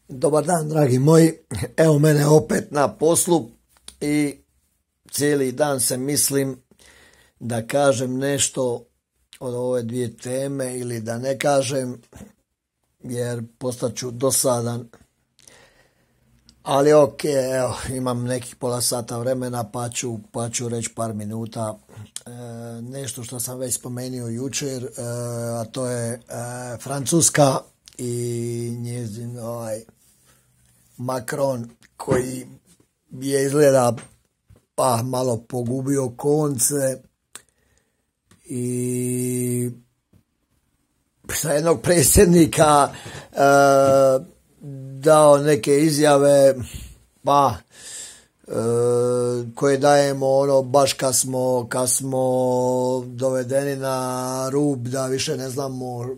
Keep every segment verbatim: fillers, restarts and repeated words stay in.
Dobar dan, dragi moji. Evo mene opet na poslu i cijeli dan se mislim da kažem nešto od ove dvije teme ili da ne kažem, jer postaću dosadan. Ali ok, evo, imam nekih pola sata vremena pa ću, pa ću reći par minuta. E, nešto što sam već spomenuo jučer, e, a to je e, Francuska i njezin ovaj Macron, koji je izgleda pa malo pogubio konce i sa jednog predsjednika e, dao neke izjave pa e, koje dajemo ono baš kad smo, kad smo dovedeni na rub da više ne znamo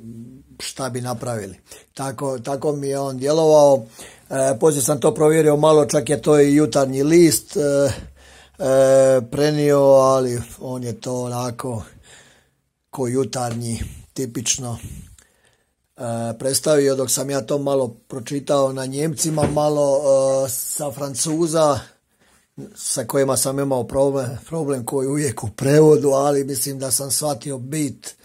šta bi napravili. Tako, tako mi je on djelovao. E, poslije sam to provjerio malo, čak je to i Jutarnji list e, e, prenio, ali on je to onako ko Jutarnji tipično e, predstavio, dok sam ja to malo pročitao na Njemcima, malo e, sa Francuza sa kojima sam imao problem, problem koji uvijek u prevodu, ali mislim da sam shvatio bit.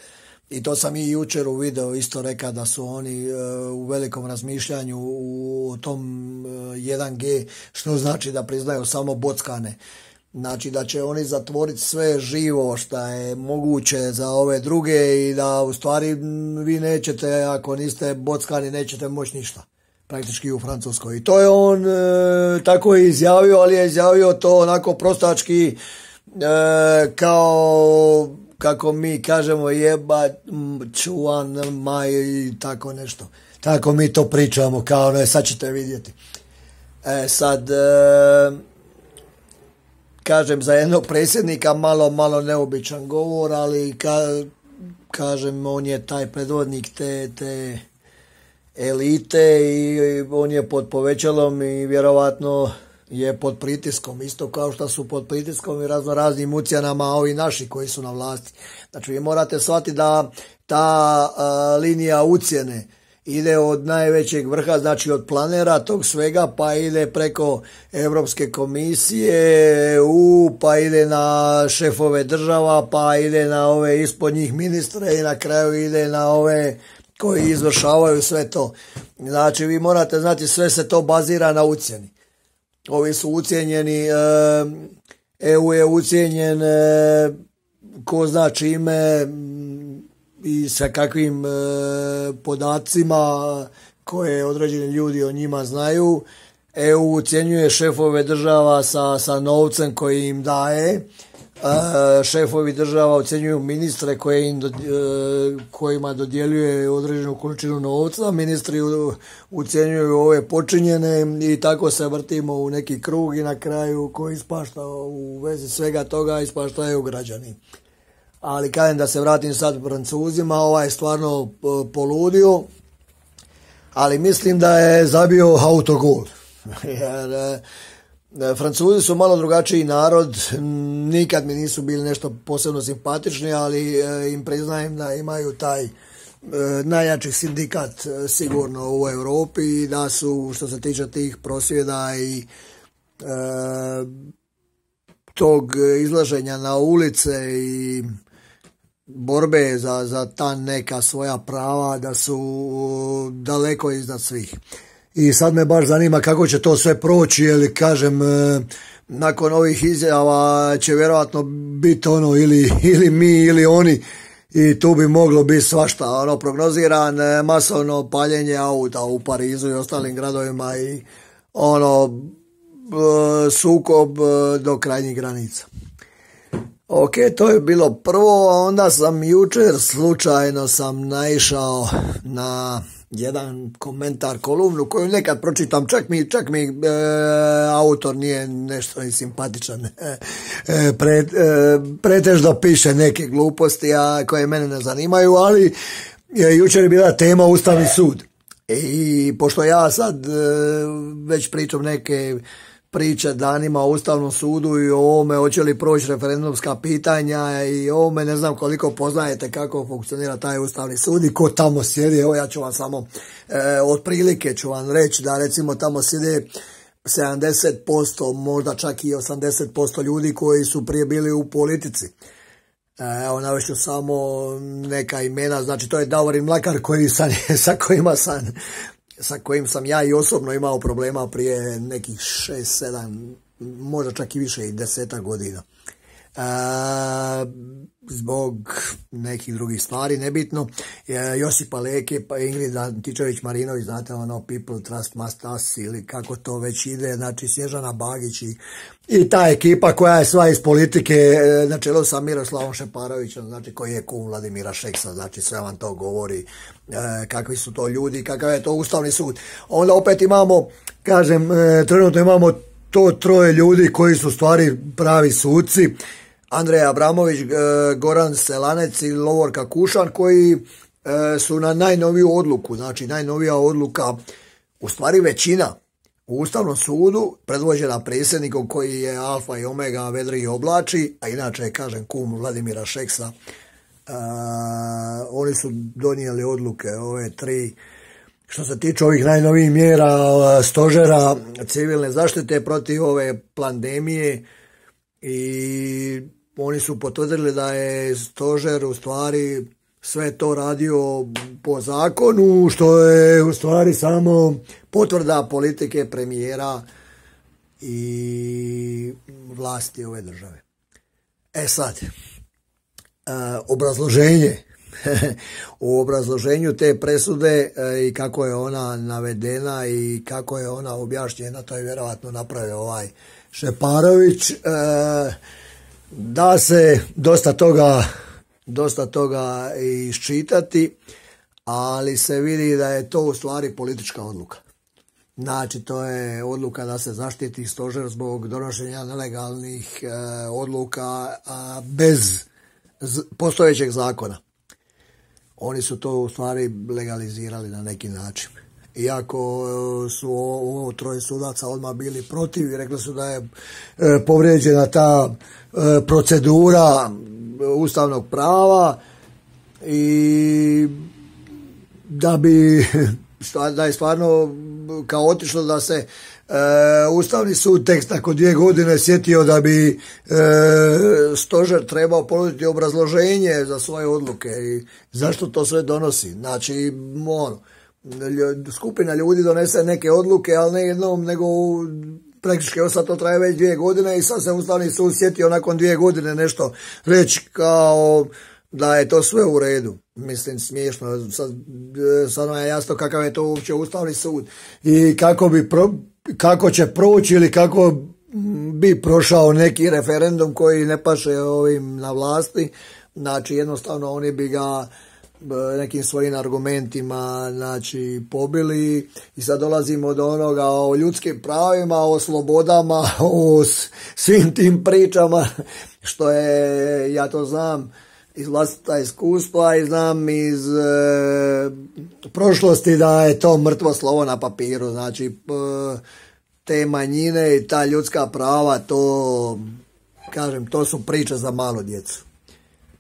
I to sam i jučer u videu isto rekao da su oni e, u velikom razmišljanju u tom e, jedan G, što znači da priznaju samo bockane. Znači da će oni zatvoriti sve živo što je moguće za ove druge i da u stvari vi nećete, ako niste bockani, nećete moći ništa. Praktički u Francuskoj. I to je on e, tako je izjavio, ali je izjavio to onako prostački e, kao... kako mi kažemo jeba čuvan maj i tako nešto. Tako mi to pričamo, kao ne, sad ćete vidjeti. E sad, e, kažem za jednog predsjednika malo, malo neobičan govor, ali ka, kažem on je taj predvodnik te, te elite i on je pod povećalom i vjerovatno je pod pritiskom, isto kao što su pod pritiskom i razno raznim ucjenama ovi naši koji su na vlasti. Znači vi morate shvatiti da ta a, linija ucjene ide od najvećeg vrha, znači od planera tog svega, pa ide preko Europske komisije, E U, pa ide na šefove država, pa ide na ove ispod njih ministre i na kraju ide na ove koji izvršavaju sve to. Znači vi morate znati, sve se to bazira na ucjeni. Ovi su ucijenjeni, E U je ucijenjen ko zna čime i sa kakvim podacima koje određeni ljudi o njima znaju. E U ucjenjuje šefove država sa, sa novcem koji im daje. Šefovi država ocjenjuju ministre koje im dod, kojima dodjeljuje određenu količinu novca, ministri ucjenjuju ove počinjene i tako se vrtimo u neki krug i na kraju koji ispašta u vezi svega toga ispaštaju građani. Ali kažem da se vratim sad Francuzima, ovaj je stvarno poludio, ali mislim da je zabio autogol. Jer Francuzi su malo drugačiji narod, nikad mi nisu bili nešto posebno simpatični, ali im priznajem da imaju taj najjači sindikat sigurno u Europi i da su, što se tiče tih prosvjeda i e, tog izlaženja na ulice i borbe za, za ta neka svoja prava, da su daleko iznad svih. I sad me baš zanima kako će to sve proći, jer kažem, nakon ovih izjava će vjerojatno biti ono ili, ili mi ili oni i tu bi moglo biti svašta. Ono, prognoziran masovno paljenje auta u Parizu i ostalim gradovima i ono sukob do krajnjih granica. Ok, to je bilo prvo, a onda sam jučer slučajno sam naišao na jedan komentar, kolumnu koju nekad pročitam, čak mi, čak mi e, autor nije nešto i simpatičan, e, pre, e, pretežno piše neke gluposti a koje mene ne zanimaju, ali e, jučer je bila tema Ustavni sud. I pošto ja sad e, već pričam neke priče danima o Ustavnom sudu i o ovome hoće li proći referendumska pitanja i o ovome ne znam koliko poznajete kako funkcionira taj Ustavni sud i ko tamo sjedi. Evo ja ću vam samo e, otprilike ću vam reći da recimo tamo sjede sedamdeset posto, možda čak i osamdeset posto ljudi koji su prije bili u politici. Evo navešću samo neka imena, znači to je Davorin Mlakar koji sam, sa, kojima sam, sa kojim sam ja i osobno imao problema prije nekih šest, sedam, možda čak i više i desetak godina. E, zbog nekih drugih stvari, nebitno. E, Josipa Leke, pa Ingrid Antičević-Marinović, znate ono People Trust Must Us ili kako to već ide, znači Snježana Bagić i, i ta ekipa koja je sva iz politike e, na čelu sa Miroslavom Šeparovićem, znači koji je kum Vladimira Šeksa, znači sve vam to govori e, kakvi su to ljudi, kakav je to Ustavni sud. Onda opet imamo, kažem, e, trenutno imamo to troje ljudi koji su stvari pravi suci, Andrej Abramović, Goran Selanec i Lovorka Kušan, koji su na najnoviju odluku, znači najnovija odluka, u stvari većina u Ustavnom sudu, predvođena predsjednikom koji je alfa i omega vedri i oblači, a inače, kažem, kum Vladimira Šeksa, uh, oni su donijeli odluke, ove tri, što se tiče ovih najnovijih mjera stožera civilne zaštite protiv ove pandemije, i oni su potvrdili da je stožer u stvari sve to radio po zakonu, što je u stvari samo potvrda politike premijera i vlasti ove države. E sad, obrazloženje. U obrazloženju te presude i kako je ona navedena i kako je ona objašnjena, to je vjerojatno napravio ovaj Šeparović, da se dosta toga, dosta toga iščitati, ali se vidi da je to u stvari politička odluka. Znači, to je odluka da se zaštiti stožer zbog donošenja nelegalnih e, odluka a, bez z, postojećeg zakona. Oni su to u stvari legalizirali na neki način. Iako su ovo troje sudaca odmah bili protiv i rekli su da je e, povrijeđena ta e, procedura ustavnog prava i da bi da je stvarno kaotično da se e, Ustavni sud tek nakon dvije godine sjetio da bi e, stožer trebao ponuditi obrazloženje za svoje odluke i zašto to sve donosi. Znači, ono, skupina ljudi donese neke odluke, ali ne jednom, nego praktički sad to traje već dvije godine i sad se Ustavni sud sjetio nakon dvije godine nešto reći kao da je to sve u redu. Mislim, smiješno. Sad, sad je jasno kakav je to uopće Ustavni sud i kako bi pro, kako će proći ili kako bi prošao neki referendum koji ne paše ovim na vlasti. Znači, jednostavno oni bi ga nekim svojim argumentima, znači, pobili i sad dolazimo do onoga o ljudskim pravima, o slobodama, o svim tim pričama, što je, ja to znam iz vlastita iskustva i znam iz e, prošlosti da je to mrtvo slovo na papiru. Znači, p, te manjine i ta ljudska prava, to, kažem, to su priče za malu djecu.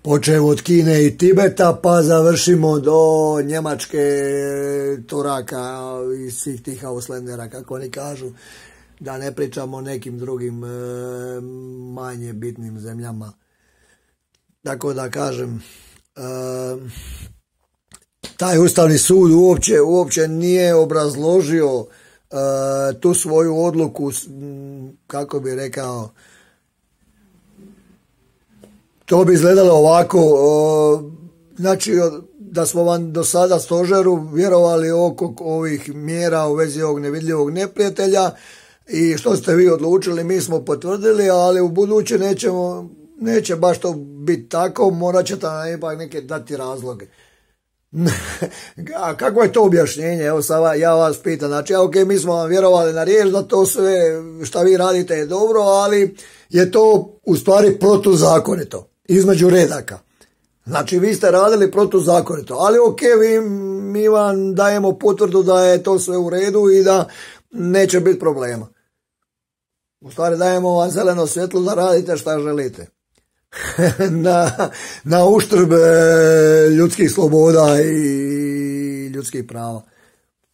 Počev od Kine i Tibeta, pa završimo do Njemačke, Turaka i svih tih Ausländera, kako oni kažu, da ne pričamo o nekim drugim e, manje bitnim zemljama. Tako da kažem, e, taj Ustavni sud uopće, uopće nije obrazložio e, tu svoju odluku, kako bi rekao, to bi izgledalo ovako, o, znači da smo vam do sada stožeru vjerovali oko ovih mjera u vezi ovog nevidljivog neprijatelja i što ste vi odlučili mi smo potvrdili, ali u buduće nećemo, neće baš to biti tako, morat ćete nam ipak neke dati razloge. A kako je to objašnjenje? Evo sad ja vas pitam, znači ok, mi smo vam vjerovali na riječ da to sve šta vi radite je dobro, ali je to u stvari protuzakonito, između redaka. Znači vi ste radili protuzakonito, ali ok, vi, mi vam dajemo potvrdu da je to sve u redu i da neće biti problema. U stvari dajemo vam zeleno svjetlo da radite šta želite. na, na uštrb ljudskih sloboda i ljudskih prava.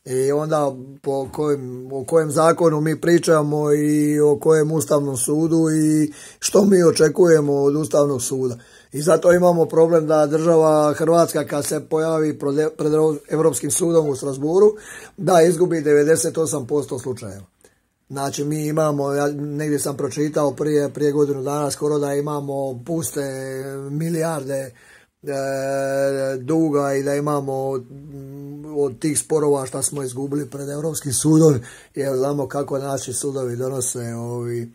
I onda po kojem, o kojem zakonu mi pričamo i o kojem Ustavnom sudu i što mi očekujemo od Ustavnog suda. I zato imamo problem da država Hrvatska kad se pojavi pred Europskim sudom u Strasburu da izgubi devedeset osam posto slučajeva. Znači mi imamo, ja negdje sam pročitao prije, prije godinu dana skoro da imamo puste milijarde e, duga i da imamo od tih sporova što smo izgubili pred Europskim sudom, jer znamo kako naši sudovi donose ovi,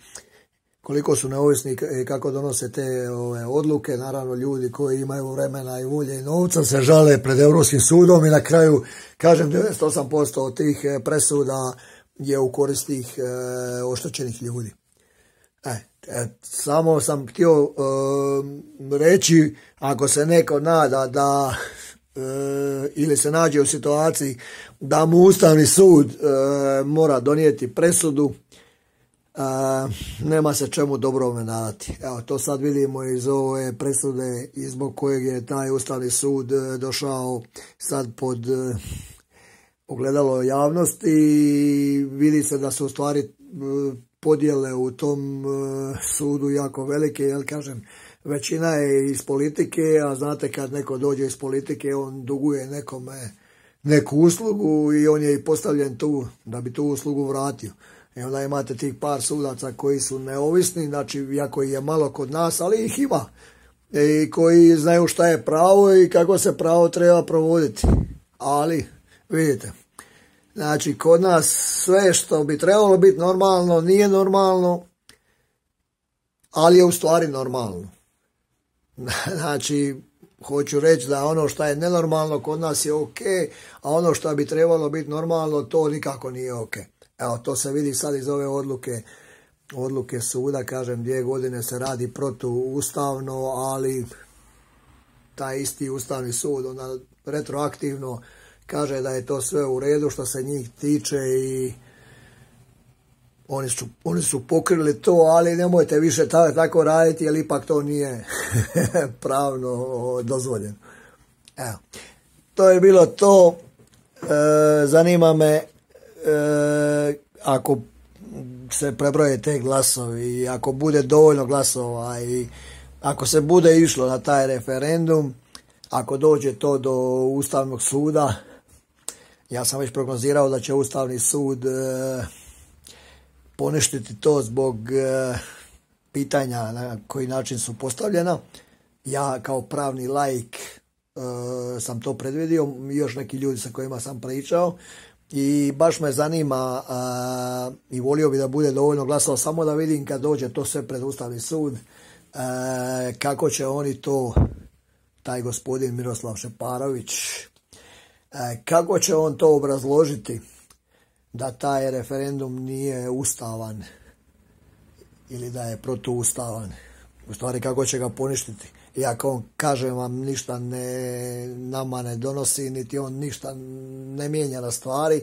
koliko su neovisni i kako donose te ove odluke. Naravno ljudi koji imaju vremena i volje i novca se žale pred Europskim sudom i na kraju, kažem, devedeset osam posto od tih presuda je u korist tih e, oštećenih ljudi. E, e, samo sam htio e, reći, ako se neko nada da e, ili se nađe u situaciji da mu Ustavni sud e, mora donijeti presudu, e, nema se čemu dobrome nadati. Evo, to sad vidimo iz ove presude i zbog kojeg je taj Ustavni sud došao sad pod e, ogledalo javnosti i vidi se da su u stvari podjele u tom sudu jako velike, jer kažem, većina je iz politike, a znate kad neko dođe iz politike, on duguje nekome neku uslugu i on je i postavljen tu da bi tu uslugu vratio. I onda imate tih par sudaca koji su neovisni, znači iako je malo kod nas, ali ih ima, i koji znaju šta je pravo i kako se pravo treba provoditi. Ali, vidite, znači kod nas sve što bi trebalo biti normalno nije normalno, ali je u stvari normalno. Znači, hoću reći da ono što je nenormalno kod nas je ok, a ono što bi trebalo biti normalno, to nikako nije ok. Evo, to se vidi sad iz ove odluke, odluke suda, kažem, dvije godine se radi protuustavno, ali taj isti Ustavni sud onda retroaktivno kaže da je to sve u redu što se njih tiče i oni su, oni su pokrili to, ali nemojte više tako raditi jer ipak to nije pravno dozvoljeno. Evo, to je bilo to. E, zanima me e, ako se prebroje te glasovi i ako bude dovoljno glasova i ako se bude išlo na taj referendum, ako dođe to do Ustavnog suda, ja sam već prognozirao da će Ustavni sud e, poništiti to zbog e, pitanja na koji način su postavljena. Ja kao pravni laik e, sam to predvidio, još neki ljudi sa kojima sam pričao i baš me zanima e, i volio bi da bude dovoljno glasova samo da vidim kad dođe to sve pred Ustavni sud e, kako će oni to, taj gospodin Miroslav Šeparović, kako će on to obrazložiti da taj referendum nije ustavan ili da je protuustavan. U stvari kako će ga poništiti. Iako on, kažem vam, ništa ne, nama ne donosi, niti on ništa ne mijenja na stvari,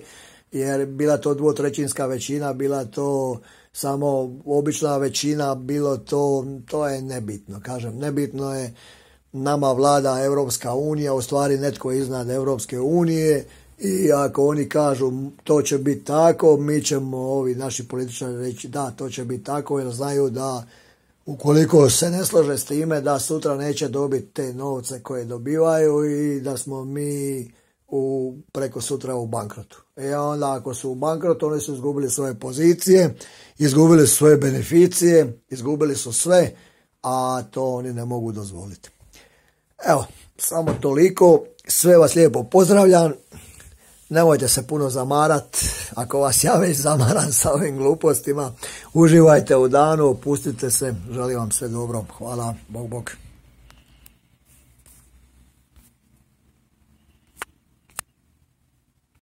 jer bila to dvotrećinska većina, bila to samo obična većina, bilo to, to je nebitno. Kažem, nebitno je, nama vlada Europska unija, u stvari netko iznad Europske unije i ako oni kažu to će biti tako, mi ćemo, ovi naši političari, reći da, to će biti tako, jer znaju da ukoliko se ne slože s time da sutra neće dobiti te novce koje dobivaju i da smo mi u, preko sutra u bankrotu. I onda ako su u bankrotu, oni su izgubili svoje pozicije, izgubili su svoje beneficije, izgubili su sve, a to oni ne mogu dozvoliti. Evo, samo toliko. Sve vas lijepo pozdravljam. Nemojte se puno zamarat. Ako vas ja već zamaram sa ovim glupostima, uživajte u danu, opustite se. Želim vam sve dobro. Hvala. Bog, bog.